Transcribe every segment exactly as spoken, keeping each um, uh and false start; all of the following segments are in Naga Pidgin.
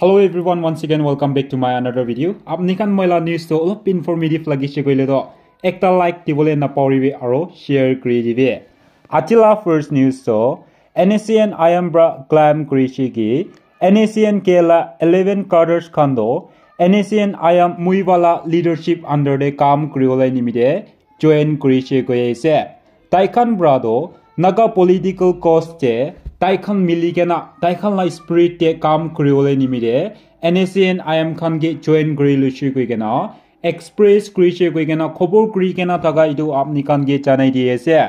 Hello everyone, once again welcome back to my another video. Apni khan moi la news to olop informative lagise koile to ekta like dibole napahoribi aro share kuri dibi. Aji la first news to N S C N I M pra claim kurise ki N S C N K la eleven cadres khan to N S C N I M Muivah la leadership under te kam kuribole nimite join kurise koi ase. Tai khan pra to Naga political cause te tai khan mili kena tai khan la spirit te kam kuribole nimite N S C N I M khan ke join kuri luise koi kena express kurise koi kena khobor kuri kena thaka etu apni khan ke janai di ase.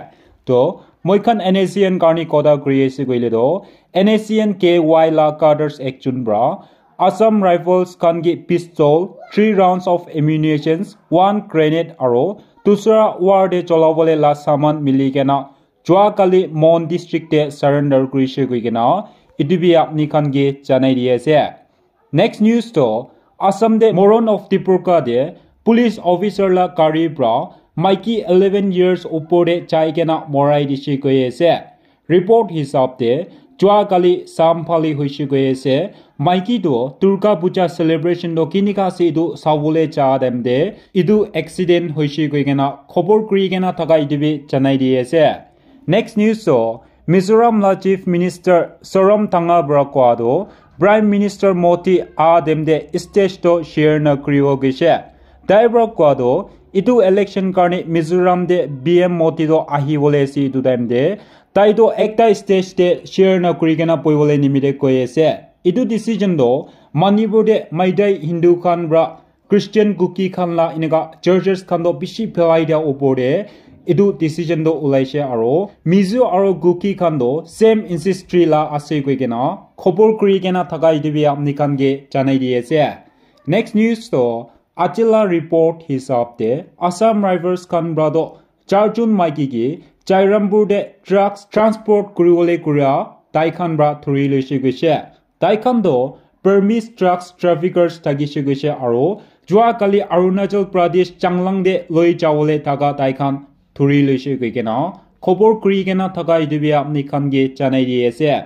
To moi khan N S C N karni kotha kuri ase koile to N S C N K Y la cadres ekjon pra Assam Rifles khan ke pistol, three rounds of ammunitions, one grenade aro dusra war te cholabole la saman mili kena jua kali Mon district te surrender kurise koi kena etu bi apni khan ke janai di ase. Next news to Assam te Morung of Tipurkha te police officer la gari pra maiki eleven years upor te jai kena morai dise koi ase. Report hisab te jua kali sam phali hoise koi ase. Maiki to Durga Puja celebration to kinika ase etu sabole ja time te etu accident hoise koi kena khobor kuri kena thaka etu bi janai di ase. Next news to Mizoram la Chief Minister Zoram Thanga pra koa to Prime Minister Modi a time te stage to share na kuribo gise. Tai pra koa to etu election karni Mizoram te P M Modi to ahibole ase etu time te tai to ekta stage te share na kuri kena boibole nimite koi ase. Etu decision to Manipur te Meitei Hindu khan pra Christian Kuki khan la eneka churches khan to bishi phelai dia upor te etu decision to ulaise aro Mizo aro Kuki khan to same ancestry la ase koi kena khobor kuri kena thaka etu bi apni khan ke janai di ase. Next news to aji la report hisab te Assam Rifles khan pra to charjon maiki ke Jairampur te drugs transport kuribole kuria tai khan pra thuri loise koise. Tai khan to permit drugs traffickers thakise koise aro jua kali Arunachal Pradesh Changlang te loi jabole thaka tai khan thuri loise koi kena khobor kuri kena thaka etu bi apni khan ke janai di ase.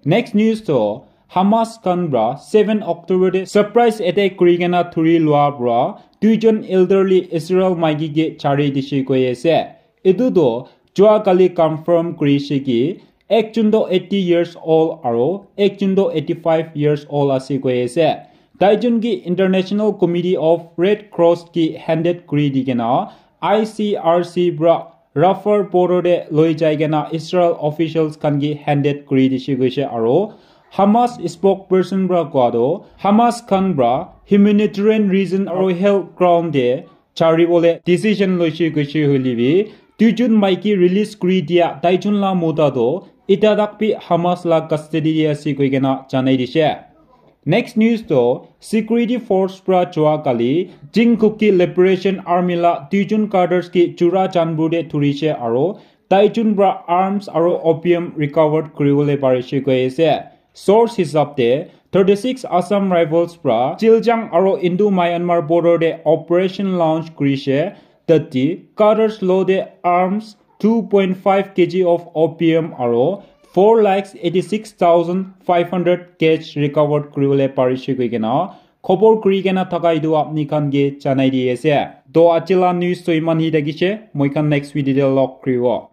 Next news to Hamas khan pra seven October te surprise attack kuri kena thuri lua pra duijon elderly Israel maiki ke chari dise koi ase. Etu to jua kali confirm kurise ki ekjon to eighty years old aro ekjon to eighty five years old ase koi ase. Taijon ki International Committee of Red Cross ki handed kuri di kena I C R C pra Rafah border te loi jai kena Israel officials khan ki handed kuri dise koise aro Hamas spokesperson pra koa to Hamas khan pra humanitarian reason aro health ground te chari bole decision loise koise hoile bi duijon maiki release kuri dia taijon la mota to eta tak bi Hamas la custody te ase koi kena janai dise. Next news to security force pra jua kali Jing Kuki Liberation Army la duijon cadres ki Churachandpur te thurise aro taijon pra arms aro opium recovered kuribole parise koi ase. Source hisab te thirty six Assam Rifles pra Chiljang aro Indo Myanmar border te operation launch kurise. Tati cadres lo te arms two point five K G of opium aro four lakhs eighty six thousand five hundred cash recovered kuribole parise koi kena khobor kuri kena thaka etu apni khan ke janai di ase. To aji la news to iman hi thakise, moi khan next video te log kuribo.